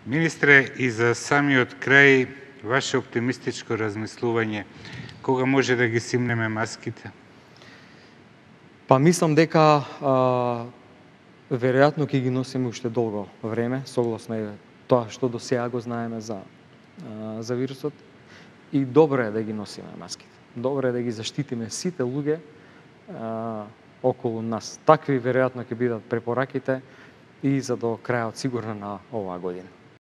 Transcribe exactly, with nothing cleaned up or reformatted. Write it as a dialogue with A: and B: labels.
A: Министре, и за самиот крај, ваше оптимистичко размислување, кога може да ги симнеме маските?
B: Па мислам дека а, веројатно ќе ги носиме уште долго време, согласно е тоа што до сега го знаеме за, а, за вирусот. И добро е да ги носиме маските. Добро е да ги заштитиме сите луѓе а, околу нас. Такви веројатно ќе бидат препораките и за до крајот сигурно на оваа година.